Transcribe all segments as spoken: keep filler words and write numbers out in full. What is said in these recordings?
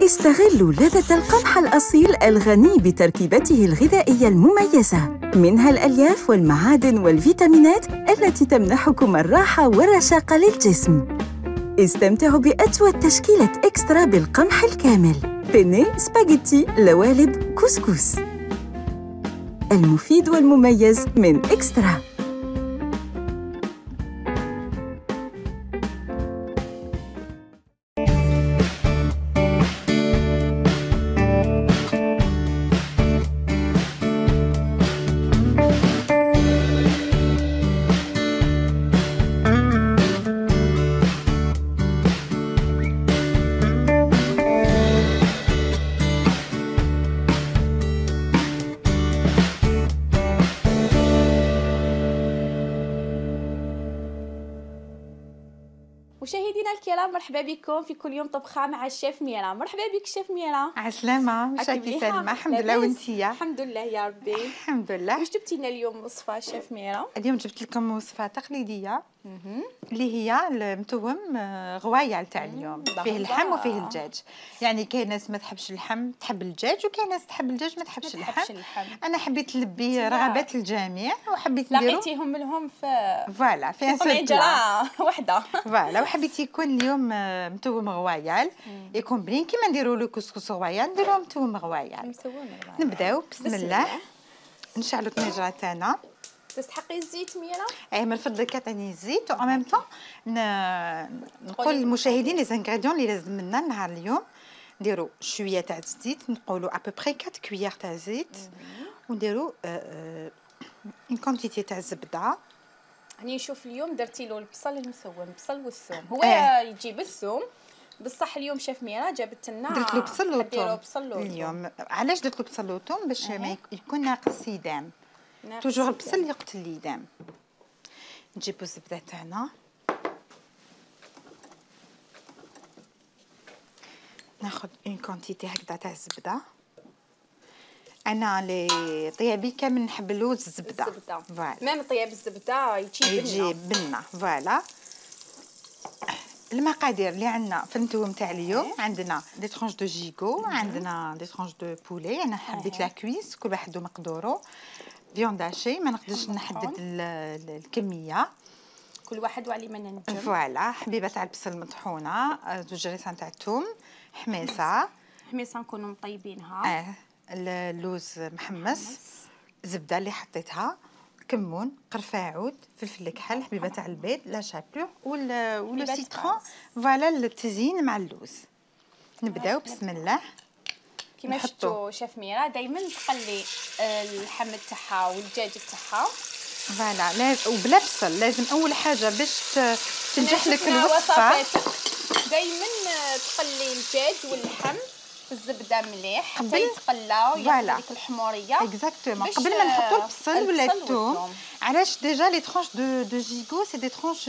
استغلوا لذة القمح الأصيل الغني بتركيبته الغذائية المميزة، منها الألياف والمعادن والفيتامينات التي تمنحكم الراحة والرشاقة للجسم. استمتعوا بأجود تشكيلة إكسترا بالقمح الكامل، بيني، سباغيتي، لوالب، كسكس. المفيد والمميز من إكسترا. مشاهدينا الكرام، مرحبا بكم في كل يوم طبخه مع الشيف ميرا. مرحبا بك شيف ميرا. عسلامة، مشاكي سلمى. الحمد لله وانتيا؟ الحمد لله يا ربي. الحمد لله. واش جبتي لنا اليوم وصفه شيف ميرا؟ اليوم جبت لكم وصفه تقليديه اللي هي المتوم غوايال تاع اليوم. فيه اللحم وفيه الدجاج. يعني كاين ناس ما تحبش اللحم تحب الدجاج، وكاين ناس تحب الدجاج ما تحبش اللحم. انا حبيت نلبي رغبات الجميع وحبيت نديرو لقيتيهم لهم في فوالا في طنجره وحده. فوالا وحبيت يكون اليوم متوم غوايال، يكون بنين كيما نديرو له كسكس غوايال نديروه متوم غوايال. نبداو بسم الله. نشعلوا الطنجره تاعنا. تستحقي الزيت ميرا؟ اي من فضلك عطيني الزيت. و ميم طون نقول للمشاهدين لي زانغريديون اللي لازم لنا نهار اليوم. نديروا شويه تاع الزيت، نقولوا ابوبري أربعة كويير تاع زيت، ونديروا اون كونتيتي تاع الزبده. هاني نشوف اليوم درتي له البصل المسوم، البصل والثوم. هو آه. يجيب الثوم بصح اليوم شيف ميرا جابت لنا درت له بصل وثوم اليوم. علاش درت له بصل وثوم؟ باش ما يكون ناقص يدام. توجور البصل يقتل اليدام. نجيبو الزبده تاعنا، ناخذ اون كونتيتي هكذا تاع الزبده. انا لي طيابي كامل نحب اللوز الزبده. فوالا ميم طياب الزبده يجي بنه يجي بنه. فوالا المقادير اللي عندنا في التوم تاع اليوم، عندنا دي ترونش دو جيغو، عندنا دي ترونش دو بولي. انا حبيت لا كويس، كل واحد ومقدورو. فيوند هاشي ما نقدرش نحدد الكميه، كل واحد وعلي ما ننجم. فوالا حبيبه تاع البصل مطحونه، زوج ريسان تاع الثوم، حميصه حميصه نكونوا مطيبينها. اه اللوز محمص، زبده اللي حطيتها، كمون، قرفه عود، فلفل الكحل، حبيبه تاع البيض، لا شابور ولو سيترون. فوالا التزيين مع اللوز. نبداو بسم الله. كيما شفتوا شيف ميرا دائما تقلي اللحم تاعها والدجاج تاعها. فوالا لازم وبلا بصل. لازم اول حاجه باش تنجح لك الوصفه دائما تقلي الدجاج واللحم في الزبده مليح حتى يتقلاو يعطي ديك الحموريه. اكزاكتومون قبل ما نحطوا البصل ولا الثوم. علاش ديجا لي ترونش دو دو جيغو سي دي ترونش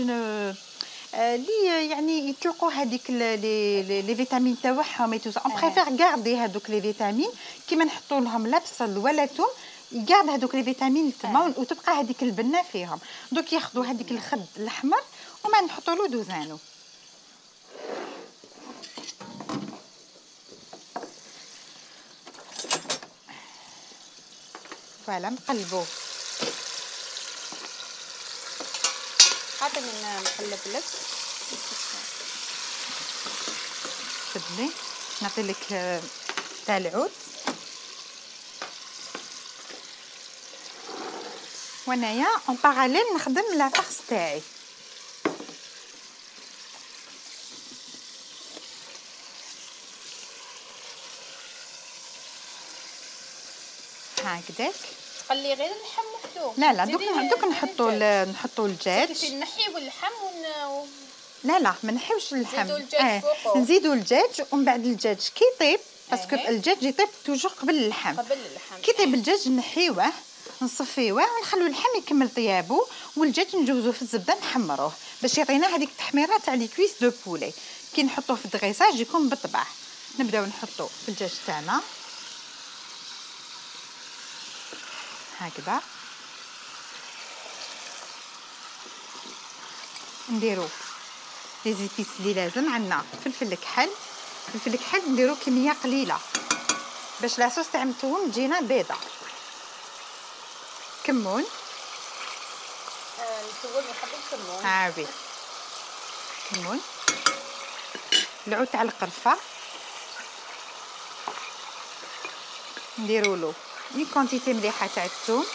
اللي يعني يطلقوا هذيك لي لي فيتامين تاعهم. اون بريفير غاردي هذوك لي فيتامين كيما نحطوا لهم لا بصل ولا ثوم، يقعد هذوك لي فيتامين تما وتبقى هذيك البنه فيهم. دوك ياخذوا هذيك الخد الاحمر وما نحطوا له دوزانو. فوالا نقلبوه. عطيني نقلب لك. شدني نعطي لك تاع العود. وانايا اون باراليل نخدم لا فارس تاعي. هكذاك تقلي غير اللحم وحده؟ لا لا دوك دوك نحطوا نحطوا الدجاج. نحيو اللحم ون لا لا ما نحيوش اللحم. نزيدوا الدجاج فوقه. نزيدوا الدجاج ومن بعد الدجاج كي يطيب، باسكو الدجاج يطيب توجور قبل اللحم. قبل اللحم كي يطيب الدجاج نحيوه نصفيوه ونخلو اللحم يكمل طيابو، والدجاج نجوزوه في الزبده نحمروه باش يعطينا هذيك التحميره تاع لي كويس دو بولي. كي نحطوه في الدغيساج يكون بالطبع. نبداو نحطو في الدجاج تاعنا هكذا. نديرو لي زيبيس اللي لازم. عندنا فلفل الكحل، الفلفل الكحل نديرو كميه قليله باش لاصوص تاع المتوم تجينا بيضه. كمون، المتوم يحب الكمون. عابي كمون، العود تاع القرفه نديروا له اون كونتيتي مليحه تاع الثوم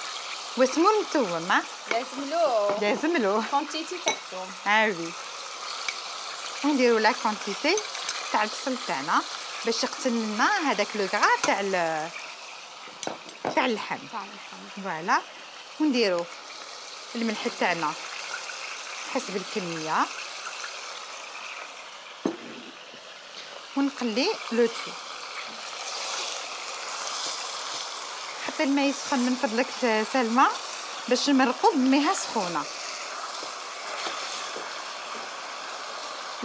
واسمو المتوم. ها لازم له لازم له كونتيتي تاع الثوم. عابي ونديروا لا كونتيتي تاع البصل تاعنا باش يقتل لنا هذاك لو غرا تاع تاع اللحم. فوالا، ونديروا الملح تاعنا حسب الكميه ونقلي لو تو. حتى الماء يسخن من فضلك سلمى باش نمرقوا بميها سخونه.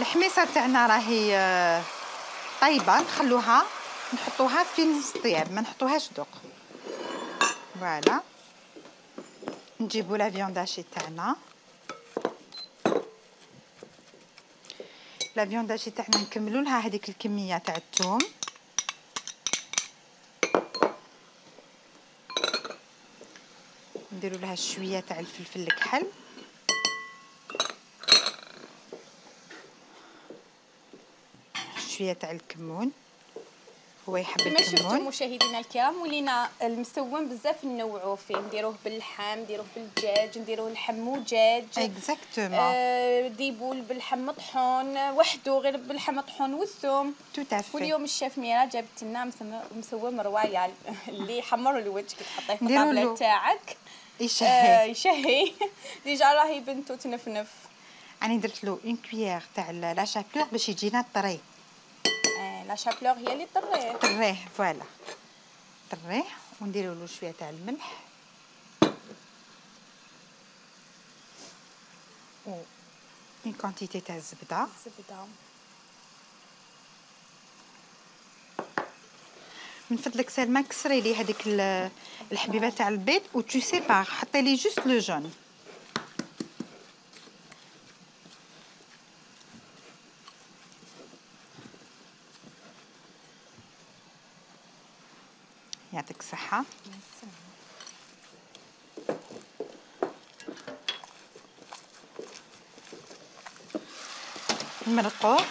الحميصه تاعنا راهي طيبه، نخلوها نحطوها في نص طياب، ما نحطوهاش دوق. فوالا، نجيبوا لا فيونداشي تاعنا. لا فيونداشي تاعنا نكملوا لها هذيك الكميه تاع الثوم. نديروا لها شويه تاع الفلفل الكحل، شويه تاع الكمون، هو يحب كما الكمون. شفتوا مشاهدينا الكرام ولينا المسوم بزاف ننوعوا فيه، نديروه باللحم، نديروه بالدجاج، نديروه لحم ودجاج. اكزاكتومون. آه ديبول باللحم مطحون وحده، غير باللحم مطحون والثوم. تو تافي. واليوم الشيف ميرا جابت لنا مسوم رويال اللي يحمر الوجه كي تحطيه في الطابله تاعك يشهي. آه يشهي. ديجا راهي بنتو تنفنف. انا درت له اون كويير تاع لا شابلور باش يجينا طري. آه لا شابلور هي اللي طريه. طريه فوالا، طريه ونديروا له شويه تاع الملح و اون كونتيتي تاع الزبده. الزبده من فضلك سلمى كسري لي هذيك الحبيبه تاع البيض و تو سيبار، حطي لي جوست لو جون. يعطيك الصحه. نمرقوه،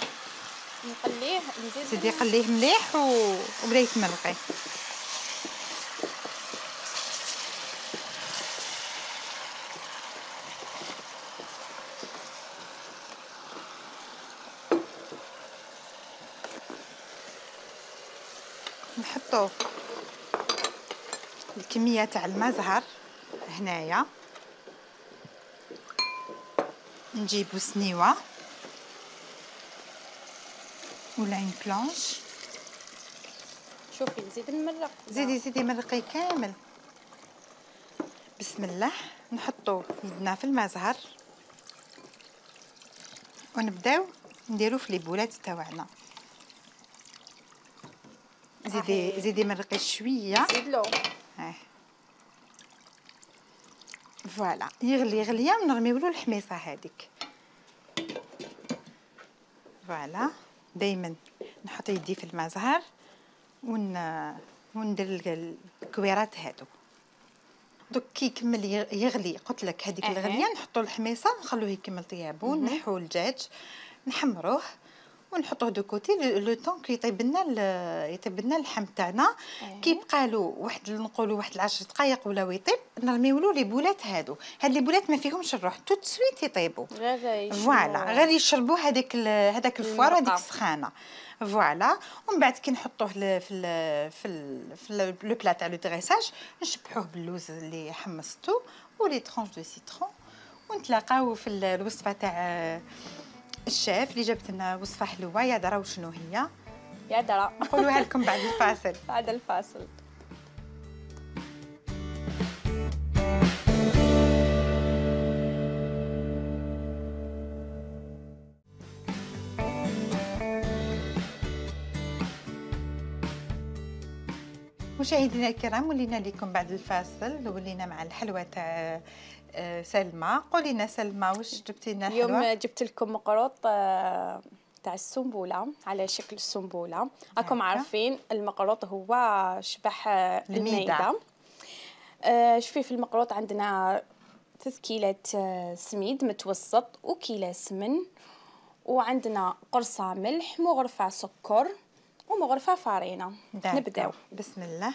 نقليه، نزيد زيدي قليه مليح و... وبدا يتمرقي. نحطو الكميه تاع الماء زهر هنايا، نجيبو سنيوه ولا اون بلانش. شوفي نزيد نمرق. زيدي زيدي مرقي كامل. بسم الله، نحطو يدنا في الماء زهر ونبداو نديرو في لي بولات تاعنا. زيدي زيدي مرقي شويه. زيدلو. اه فوالا، يغلي غليه ونرميولو الحميصه هذيك. فوالا، دائما نحط يدي في الماء زهر ون وندير الكويرات هادو. دوك كي يكمل يغلي قلت لك هذيك أه. الغليه نحطوا الحميصه ونخلوه يكمل طيابو. نحو الدجاج نحمروه ونحطوه دو كوتي لو طون كي يطيب لنا يطيب لنا اللحم تاعنا. أه. كي يبقى له واحد نقولوا واحد العشر دقائق ولا يطيب نرميو له لي بولات هادو. هاد لي بولات ما فيهمش الروح، تو سويت يطيبوا. فوالا، غير يشربوا هذاك هذاك الفوار هذيك السخانه. فوالا، ومن بعد كي نحطوه في ال في ال في لو بلا تاع لو دريساج نشبحوه باللوز اللي حمصتو ولي ترونش دو سيترون. ونتلاقاو في الوصفه تاع الشيف اللي جابت لنا وصفه حلوه. يا درا وشنو هي؟ يا درا نقولوها لكم بعد الفاصل. بعد الفاصل. مشاهدينا الكرام، ولينا لكم بعد الفاصل، ولينا مع الحلوى تاع سلمى. قولي لنا سلمى واش جبتي لنا الحلوى؟ اليوم جبت لكم مقروط تاع السنبوله على شكل السنبوله. راكم عارفين المقروط هو شبح الميده. آه شوفي في المقروط عندنا ثلاث كيلات سميد متوسط وكيلة سمن، وعندنا قرصه ملح، مغرفه سكر ومغرفه فارينه. نبداو بسم الله.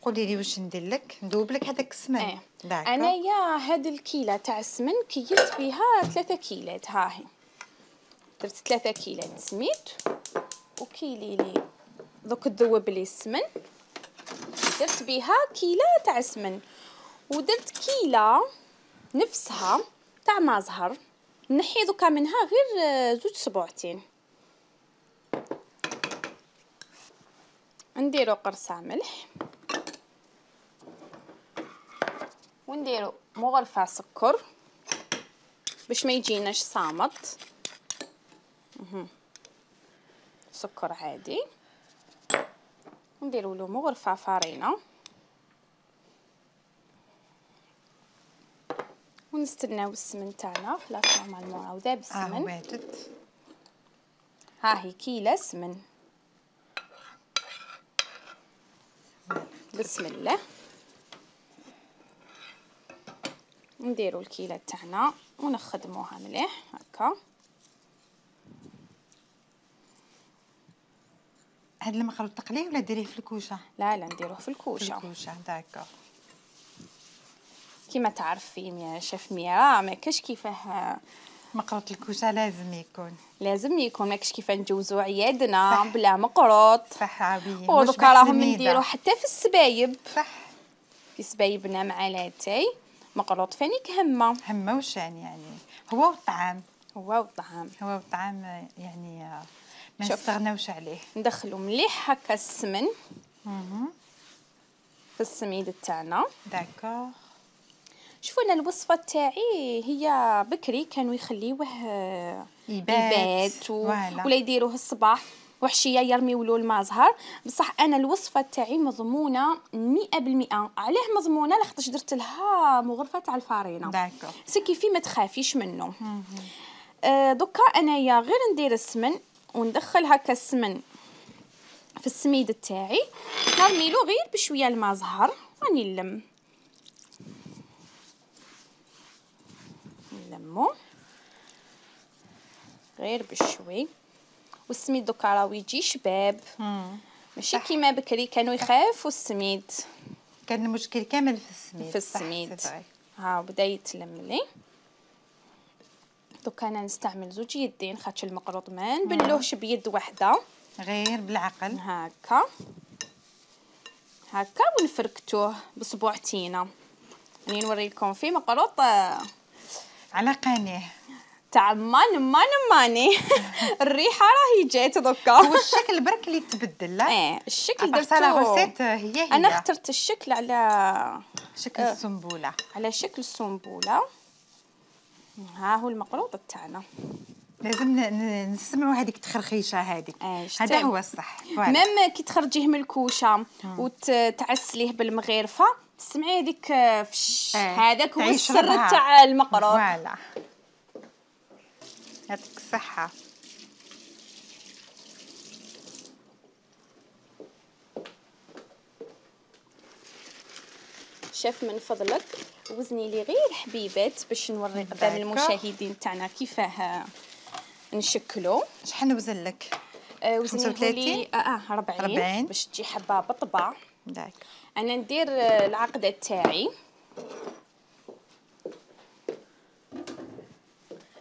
قولي لي واش ندير لك؟ ندوب لك هذاك السمن. اه انايا هاد الكيله تاع السمن كيلت بها ثلاثة كيلات. ها هي درت ثلاثة كيلات سميد وكيلي لي دوك تذوب لي السمن، درت بها كيله تاع سمن، ودرت كيله نفسها تاع ما زهر، نحي دوكا منها غير زوج صبوعتين. نديرو قرصه ملح ونديرو مغرفه سكر باش ما يجيناش صامت. اها سكر عادي، ونديرو له مغرفه فارينه ونستناو السمن تاعنا. خلاص نورمالمون راهو ذاب السمن. اه ها هي كيله سمن. بسم الله. نديرو الكيله تاعنا ونخدموها مليح هكا. هاد المقروط تقليه ولا ديريه في الكوشه؟ لا لا نديروه في الكوشه. في الكوشه داكور. كيما تعرفين يا شيف ميرا ما كاش كيفاه مقروط الكوشه لازم يكون لازم يكون ما كاش كيفاه نجوزو عيادنا بلا مقروط. صح عبيه. ودوكا راهم نديرو حتى في السبايب. صح. في سبايبنا مع لاتاي مقروط فانيك همه همه وشان يعني هو والطعام. هو والطعام هو والطعام يعني ما نستغناوش عليه. ندخلو مليح هكا السمن في السميد تاعنا. داكور. شوفوا انا الوصفه تاعي هي بكري كانوا يخليوه يبات, يبات و... ولا يديروه الصباح وحشيه يرميو له الماء زهر. بصح انا الوصفه تاعي مضمونه مئة بالمئة. علاه مضمونه؟ لاخاطش درت لها مغرفه تاع الفارينه. داكور. سكي في ما تخافيش منه. آه دوكا انايا غير ندير السمن وندخل هكا السمن في السميد تاعي، نرميلو غير بشويه الماء زهر راني نلم نلمو غير بشوي. والسميد دوكا راهو يجي شباب ماشي كيما بكري كانوا يخافوا السميد. كان المشكل كامل في السميد. في السميد ها بدا يتلم لي. دوكا انا نستعمل زوج يدين خاطش المقروط ما نبلوهش بيد واحده، غير بالعقل هكا هكا ونفركتوه بصبوعتينا. راني نوريلكم فيه مقروط على قناه تاع مان مان ماني. الريحه راهي جات دوكا. هو الشكل برك اللي تبدل. لا اه الشكل درتو هي هي. انا اخترت الشكل على شكل السنبوله. على شكل السنبوله. ها هو المقروط تاعنا. لازم نسمعوا هذيك التخرخيشه هذيك. هذا هو الصح. ميم كي تخرجيه من الكوشه وتعسليه بالمغرفه تسمعي هذيك فش. هذاك هو السر تاع المقروط. فوالا يعطيك الصحه. شاف من فضلك وزني لي غير حبيبات باش نوري قدام المشاهدين تاعنا كيفاه نشكلو. شحال نوزن لك؟ آه وزني لي اه أربعين باش تجي حبه بطبع. داك انا ندير العقده تاعي.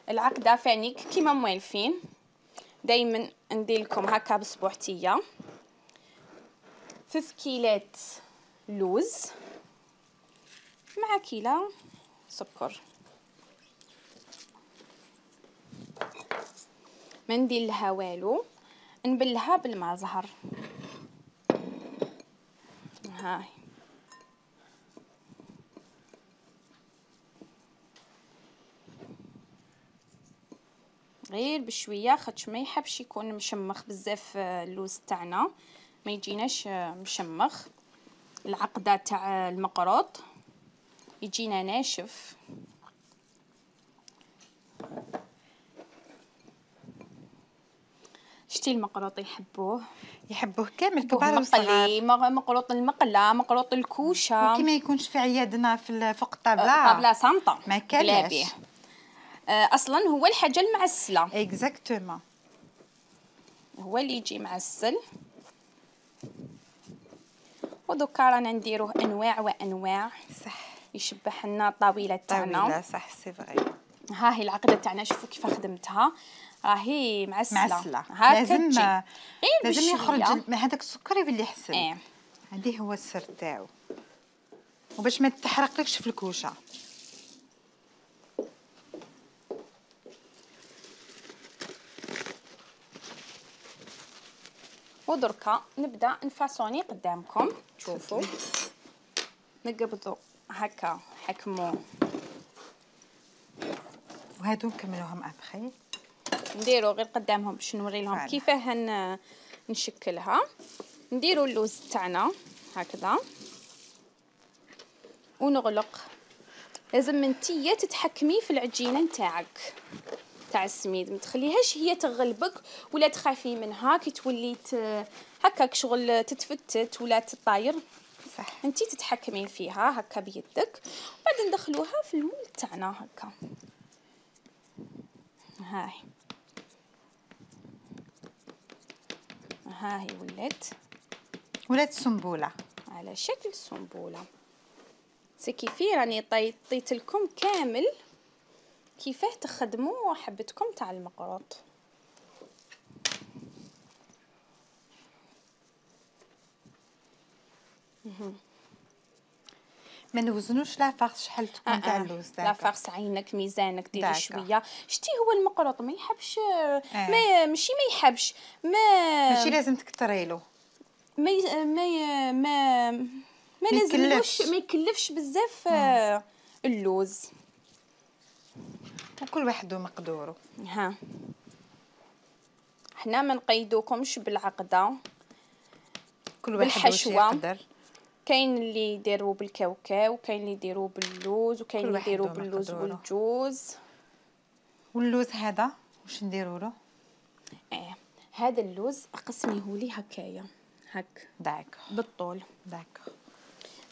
العقده فانيك كيما موالفين دائما ندير لكم هكا بصبوعتيه. ثلاث كيلات لوز مع كيلة سكر. ما ندير لها والو، نبلها بالماء زهر. هاي غير بشويه خاطش ما يحبش يكون مشمخ بزاف اللوز تاعنا، ما يجيناش مشمخ. العقده تاع المقروط يجينا ناشف. شتي المقروط يحبوه يحبوه كامل كبار وصغار. مقلي، مقروط المقله، مقروط الكوشه، وكي ما يكونش في عيادنا في فوق الطابله طابله صامته ما كالاش. اصلا هو الحاجه المعسله اكزاكتومون، هو اللي يجي معسل. ودوكا رانا نديروه انواع وانواع. صح، يشبح لنا الطاوله تاعنا. طاوله صح، سي فغي. ها هي العقده تاعنا، شوفوا كيف خدمتها، راهي معسله معسله. هاكا لازم تجي غير لازم يخرج بشوية. هذاك السكر يولي حسن. ايه هذه هو السر تاعو، وباش ما تحرقلكش في الكوشه. ودركا نبدا نفاصوني قدامكم. شوفوا نقبضوا هكا حكموا، وهادو نكملوهم ابخي. نديروا غير قدامهم باش نوري لهم كيفاه هن نشكلها. نديروا اللوز تاعنا هكذا ونغلق. لازم انتيا تتحكمي في العجينه نتاعك تاع السميد، ما تخليهاش هي تغلبك ولا تخافي منها كي تولي هكاك شغل تتفتت ولا تطاير. صح، انتي تتحكمين فيها هكا بيدك، وبعد ندخلوها في المول تاعنا هكا. هاي هاهي ولات ولات سنبوله على شكل سنبوله. سي كيفي راني طيطيت لكم كامل كيفاه تخدموا حبتكم تاع المقروط. ما نوزنوش لا فارس شحال تكون آه تاع آه. اللوز. لا فارس عينك ميزانك ديري داكا. شويه. شتي هو المقروط ما يحبش آه. ما ماشي ما يحبش ما ماشي لازم تكتريلو، ما ي... ما ي... ما ما لازملوش ما يكلفش بزاف آه. اللوز. وكل واحد ومقدوره. ها حنا ما نقيدوكمش بالعقده، كل واحد بالحشوة. يقدر. كاين اللي يديروا بالكاوكاو، وكاين اللي يديروا باللوز، وكاين اللي يديروا باللوز والجوز. واللوز هذا واش نديروا له؟ اه هذا اللوز اقسميهولي هكايا هك داك بالطول. داك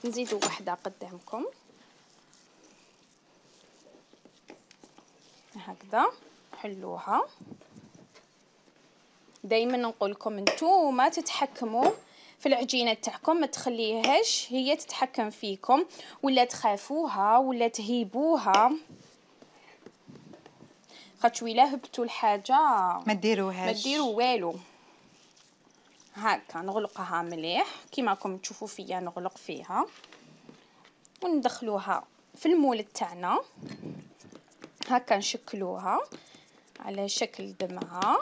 نزيدوا وحده قدامكم هكذا. حلوها. دائما نقول لكم انتوما تتحكموا في العجينه تاعكم، ما تخليهاش هي تتحكم فيكم ولا تخافوها ولا تهيبوها، خاطش ولا هبطوا الحاجه ما ديروهاش، ما ديروا والو. هكا نغلقها مليح كيما راكم تشوفوا فيا نغلق فيها، وندخلوها في المول تاعنا هكا. نشكلوها على شكل دمعه.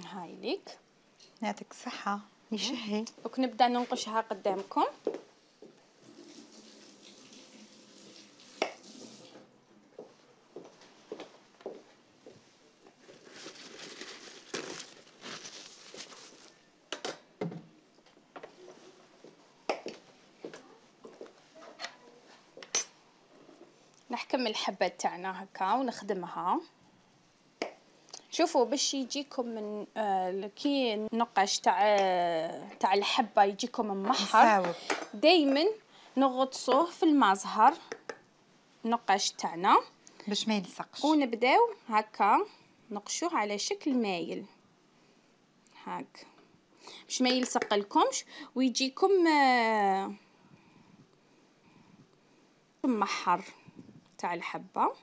هاي ليك، يعطيك الصحه يشهي. دوك نبدا ننقشها قدامكم. نحكم الحبات تاعنا هكا ونخدمها. شوفوا باش يجيكم من آه كي النقاش تاع تاع الحبه يجيكم ممحر، دائما نغطسوه في المازهر النقاش تاعنا باش ما يلصقش، ونبداو هكا نقشوه على شكل مايل هاك باش ما يلصق لكمش ويجيكم آه ممحر تاع الحبه.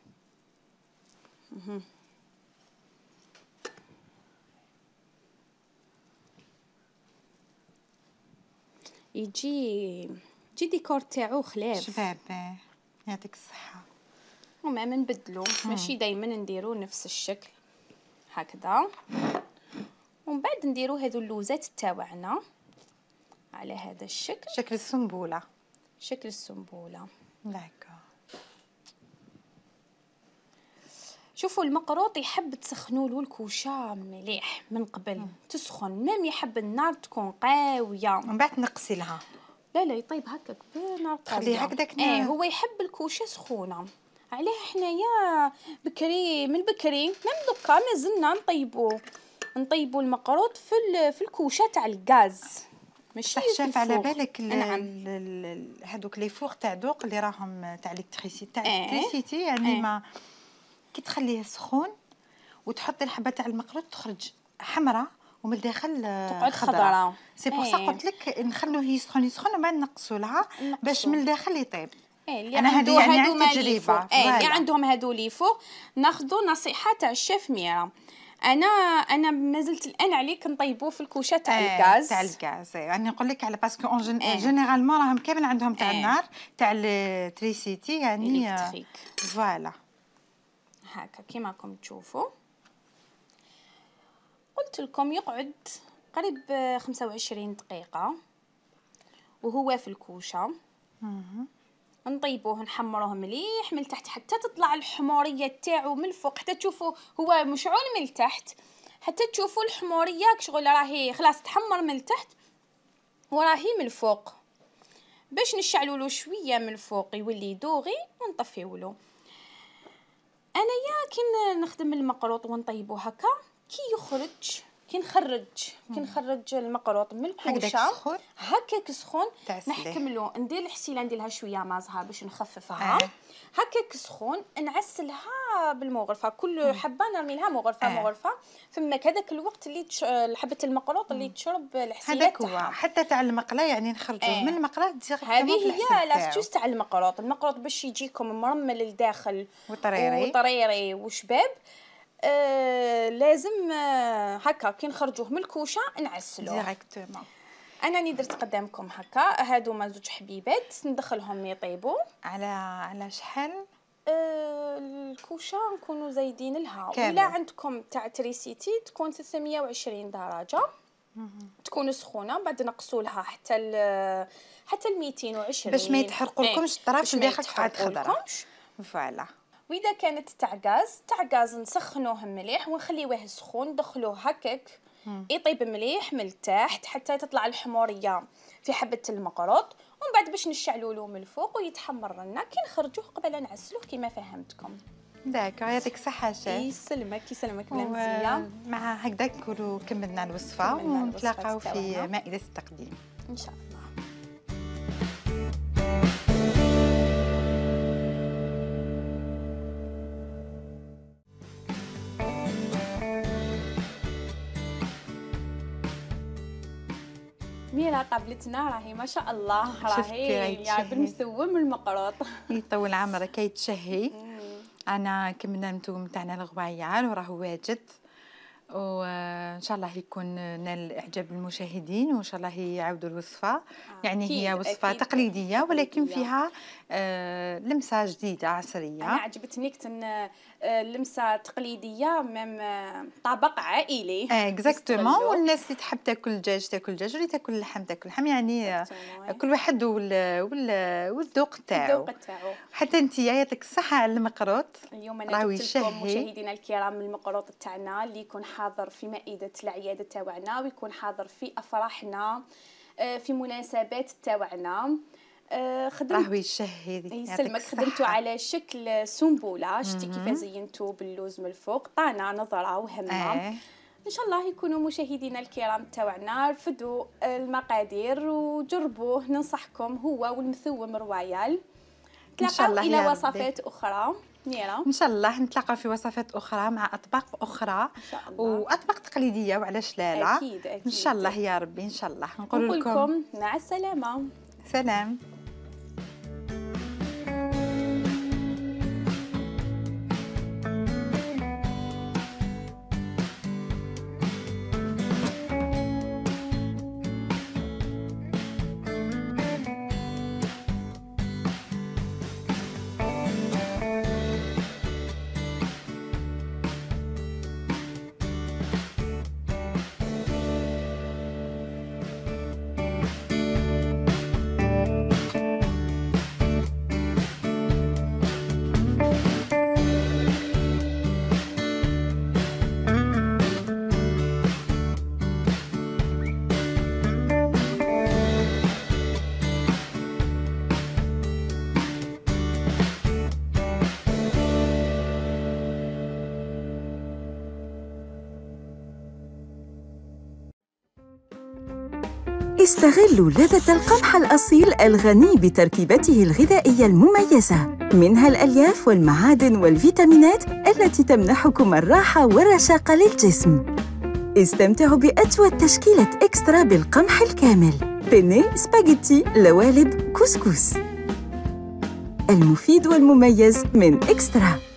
يجي يجي ديكور تاعو خلاف شباب. يعطيك الصحه. وما نبدلو ماشي دائما نديرو نفس الشكل هكذا. ومن بعد نديرو هذو اللوزات تاعنا على هذا الشكل، شكل السنبوله، شكل السنبوله. داكا. شوفوا المقروط يحب تسخنوا الكوشه مليح من قبل. مم. تسخن ميم يحب النار تكون قاويه، ومن بعد نقسلها. لا لا يطيب هكاك بنار قاويه خليه هكذاك. ايه هو يحب الكوشه سخونه علاه حنايا بكري من بكري من دوكا مازلنا نطيبو نطيبو المقروط في في الكوشه تاع الغاز ماشي شاف على بالك نعم. هذوك لي فوغ تاع دوق اللي راهم تاع الكتريسيتي تاع اه. الكتريسيتي يعني اه. ما كي تخليه سخون وتحطي الحبه تاع المقروط تخرج حمراء ومن الداخل تقعد خضراء. سي بور سا قلت لك نخلوه يسخن يسخن ومن نقصوا لها باش من الداخل يطيب. ايه اللي عنده يعني هادو عن تجربه ايه اللي عندهم هادو لي فوق ناخذوا نصيحه تاع الشيف ميرا. انا انا مازلت الان عليك نطيبوه في الكوشه تاع الغاز تاع الغاز يعني نقول لك على باسكو اون جينيرالمون راهم كامل عندهم تاع النار تاع التريسيتي يعني فوالا هكا كيما راكم تشوفوا. قلت لكم يقعد قريب خمسة وعشرين دقيقه وهو في الكوشه. نطيبوه نحمروه مليح من تحت حتى تطلع الحموريه تاعو من الفوق حتى تشوفوا هو مشعول من التحت حتى تشوفوا الحموريه شغل راهي خلاص تحمر من التحت وراهي من الفوق باش نشعلوا له شويه من الفوق يولي دوغي ونطفيو له. انايا كي نخدم المقروط ونطيبو هكا كي يخرج كي نخرج كي نخرج المقروط من الكوشه هكاك سخون نحكملو ندير الحسيله ندير لها شويه مازها باش نخففها آه. هكاك سخون نعسلها بالمغرفه كل حبه نرمي لها مغرفه آه. مغرفه فماك هذاك الوقت اللي تش... حبه المقروط اللي تشرب الحسيله تاعها حتى تاع المقله يعني نخرجوه آه. من المقله ديريكتومون هذه هي لاستيوس تاع المقروط. المقروط باش يجيكم مرمل للداخل وطريري وطريري وشباب آه لازم آه هكا كي نخرجوه من الكوشه نعسلوه ديريكتومون. انا راني درت قدامكم هكا هادو ما زوج حبيبات ندخلهم يطيبوا على على شحال آه الكوشه نكونوا زايدين لها ولا عندكم تاع تريسيتي تكون ثلاثمية وعشرين درجه تكون سخونه بعد نقصوا لها حتى ل حتى ل مئتين وعشرين باش ما يتحرقولكمش الطرف الداخل تقعد خضراء فوالا. واذا كانت تاع غاز تاع غاز نسخنوه مليح ونخليوه سخون ندخلوه هكاك يطيب مليح من التحت حتى تطلع الحموريه في حبه المقروط ومن بعد باش نشعلوا له من الفوق ويتحمر لنا كي نخرجوه قبل نعسلوه كما فهمتكم. داك يعطيك الصحه شيف. يسلمك يسلمك بلانزيه. مع هكذا نكونوا كملنا الوصفه ونتلاقاو في مائده التقديم ان شاء الله. ميرا قابلتنا راهي ما شاء الله راهي يا بالمسوم المقروط يطول عمرك يتشهي. انا كملنا المتوم تاعنا الغوايال وراه واجد وان شاء الله يكون نال اعجاب المشاهدين وان شاء الله يعاودوا الوصفه آه. يعني هي وصفه تقليديه ولكن فيها آه لمسه جديده عصريه. انا عجبتني كتن لمسه تقليديه ميم طبق عائلي اه اكزاكتومون والناس اللي تحب تاكل الدجاج تاكل الدجاج واللي تاكل اللحم تاكل اللحم يعني كل واحد والذوق تاعو الذوق تاعو. حتى انت يعطيك الصحه على المقروط. اليوم انا جبت لكم مشاهدينا الكرام المقروط تاعنا اللي يكون حاضر في مائده العياده تاعنا ويكون حاضر في افراحنا في مناسبات تاعنا. خدمت راهو يشهي يسلمك خدمتو على شكل سنبوله شتي كيف زينتو باللوز من الفوق طانا نظره وهمه آه. ان شاء الله يكونوا مشاهدينا الكرام تاعنا رفدوا المقادير وجربوه ننصحكم هو والمثوم رويال. نتلاقاو الى وصفات اخرى ميرا ان شاء الله نتلاقاو في وصفات اخرى مع اطباق اخرى واطباق تقليديه وعلاش لا لا اكيد اكيد ان شاء الله يا ربي ان شاء الله. نقول لكم مع السلامه. سلام. استغلوا لذة القمح الأصيل الغني بتركيبته الغذائية المميزة، منها الألياف والمعادن والفيتامينات التي تمنحكم الراحة والرشاقة للجسم. استمتعوا بأجود تشكيلة إكسترا بالقمح الكامل، بيني، سباغيتي، لوالب، كسكس. المفيد والمميز من إكسترا.